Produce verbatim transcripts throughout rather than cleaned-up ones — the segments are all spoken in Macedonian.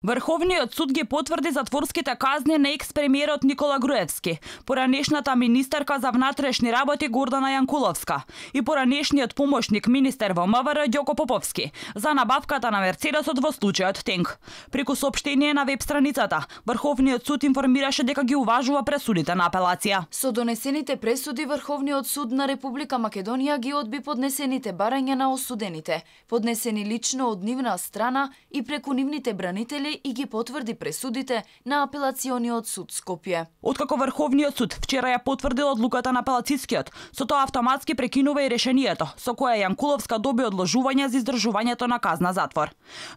Врховниот суд ги потврди затворските казни на екс-премиерот Никола Груевски, поранешната министерка за внатрешни работи Гордана Јанкуловска и поранешниот помошник министер во МВР Ѓоко Поповски за набавката на Мерцедесот во случајот Тенк. Преку соопштение на веб страницата, Врховниот суд информираше дека ги уважува пресудите на апелација. Со донесените пресуди, Врховниот суд на Република Македонија ги одби поднесените барања на осудените, поднесени лично од нивна страна и преку нивните бранители, и ги потврди пресудите на апелациониот суд Скопје. Откако Врховниот суд вчера ја потврдил одлуката на апелацискиот, со тоа автоматски прекинува и решението со кое Јанкуловска доби одложување за издржувањето на казна затвор.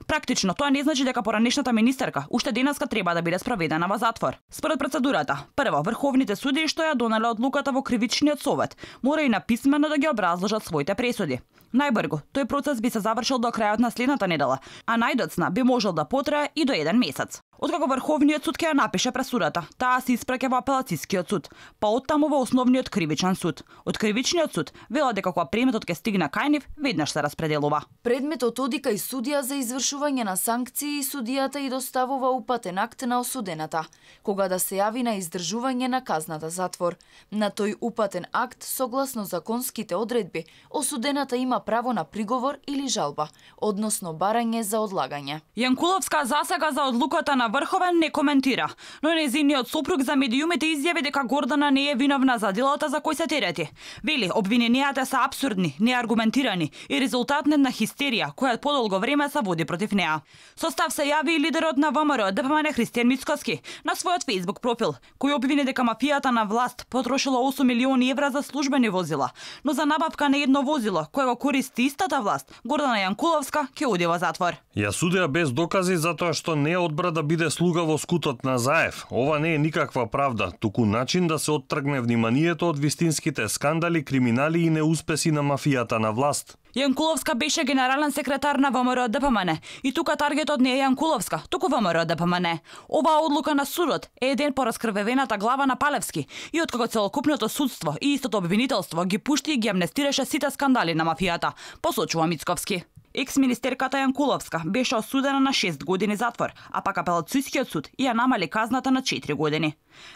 Практично тоа не значи дека поранешната министерка уште денеска треба да биде спроведена во затвор. Според процедурата, прво врховните судии што ја донеле одлуката во кривичниот совет, мора и написмено да ги образложат своите пресуди. Најбрзо, тој процес би се завршил до крајот на следната недела, а најдоцна би можел да потрае и до еден месец. Откако Врховниот суд ќе ја напише пресудата, таа се испраќа во апелацискиот суд, па оттаму во основниот кривичен суд. Од кривичниот суд велат дека кога предметот ќе стигне кај нив, веднаш се распределува. Предметот оди кај судија за извршување на санкции и судијата и доставува упатен акт на осудената, кога да се јави на издржување на казната затвор. На тој упатен акт, согласно законските одредби, осудената има право на приговор или жалба, односно барање за одлагање. Јанкуловска засега за одлуката на Врховен не коментира, но нејзиниот сопруг за медиумите изјави дека Гордана не е виновна за делата за кои се терети. Вели, обвиненијата се апсурдни, неаргументирани и резултат на хистерија која подолго време се води против неа. Со став се јави и лидерот на ВМРО ДПМН Христијан Мицкоски на својот фејсбук профил, кој обвини дека мафијата на власт потрошила осум милиони евра за службени возила, но за набавка на едно возило кое го користи истата власт, Гордана Јанкуловска ќе оди во затвор. Ја судија без докази затоа што не одбра да биде слуга во скутот на Заев. Ова не е никаква правда, туку начин да се оттргне вниманието од вистинските скандали, криминали и неуспеси на мафијата на власт. Јанкуловска беше генерален секретар на ВМРО ДПМН и тука таргетот не е Јанкуловска, туку ВМРО ДПМН. Оваа одлука на судот е еден по раскрвевената глава на Палевски и откако целокупното судство и истото обвинителство ги пушти и ги амнестираше сите скандали на мафијата, посочува Мицковски. Екс-министерката Јанкуловска беше осудена на шест години затвор, а пак апелацискиот суд ја намали казната на четири години.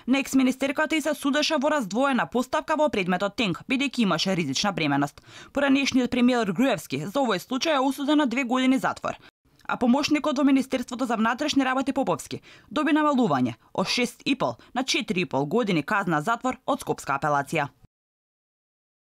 На екс-министерката и се судеше во раздвоена поставка во предметот Тенк, бидејќи имаше ризична бременост. Поранешниот премиер Груевски за овој случај е осуден на две години затвор. А помошникот во Министерството за внатрешни работи Поповски доби намалување од шест и пол на четири и пол години казна затвор од Скопска апелација.